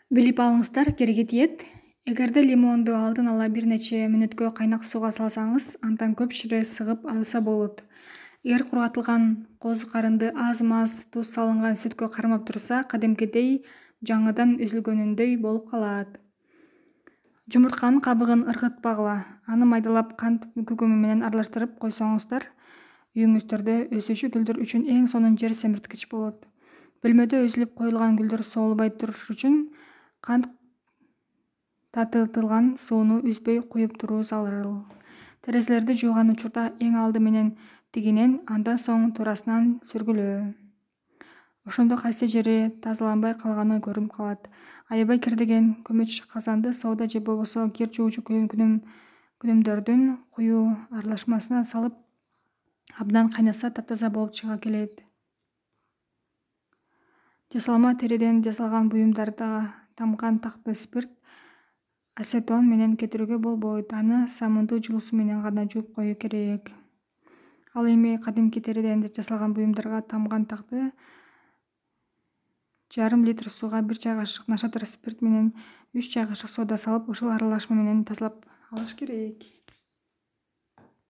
Билип алыңыздар, кереги тиет. Эгерде лимонду алдын ала бир нече мүнөткө кайнак сууга салсаңыз, андан көп шире сыгып алса болот. Эгер кургатылган козу карынды аз-маз туз салынган сүткө кармап турса, кадимкидей жаңыдан үзүлгөнүндөй болуп калат. Жумуртканын кабыгын ыргытпагыла. Аны майдалап кант күкүмү менен аралаштырып койсоңуздар, үйүңүздөрдө өсүүчү гүлдөр үчүн эң сонун жер семирткич болот. Бөлмөдө үзүлүп коюлган гүлдөр соолбой туруш үчүн кант татыытылган сууну үзбөй куюп туруу зарыл. Терезелерди жууган учурда эң алды менен тигинен, андан соң туурасынан сүргүлөө. Ошондо кайсы жери тазаланбай калганы көрүнүп калат. Аябай кирдеген көмөч казанды сода же болбосо кир жуучу күнүмдөрдүн куюу аралашмасына салып абдан кайнаса таптаза болуп чыга келет. Жасалма териден жасалган буюмдарда тамган такты спирт, ацетон менен кетирүүгө болбойт. Аны самындуу жуусу менен гана жууп коюу керек. Ал эми кадимки териден жасалган буюмдарга тамган такты жарым литр сууга 1 чай кашык нашатыр спирт менен 3 чай кашык сода салып, ушул аралашма менен тазалап алыш керек.